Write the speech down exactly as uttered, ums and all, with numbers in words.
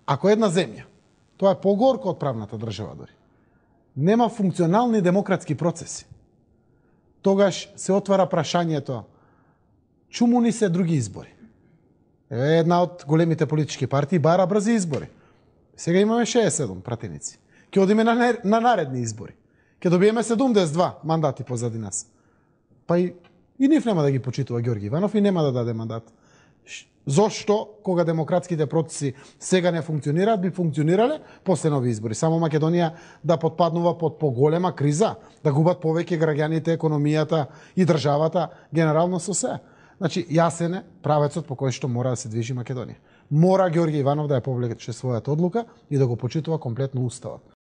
Ако една земја, тоа е погорко од правната држава дори, нема функционални демократски процеси, тогаш се отвара прашањето чуму ни се други избори. Еве една од големите политички партии бара брзи избори. Сега имаме шеесет и седум пратеници. Ќе одиме на, на наредни избори. Ќе добиеме седумдесет и два мандати позади нас. Па и, и нив нема да ги почитува Ѓорги Иванов и нема да даде мандат. Зошто, кога демократските процеси сега не функционираат, би функционирале после нови избори? Само Македонија да потпаднува под поголема криза, да губат повеќе граѓаните, економијата и државата, генерално со се. Значи, јасен е правецот по кој што мора да се движи Македонија. Мора Ѓорги Иванов да ја повлече својата одлука и да го почитува комплетно уставот.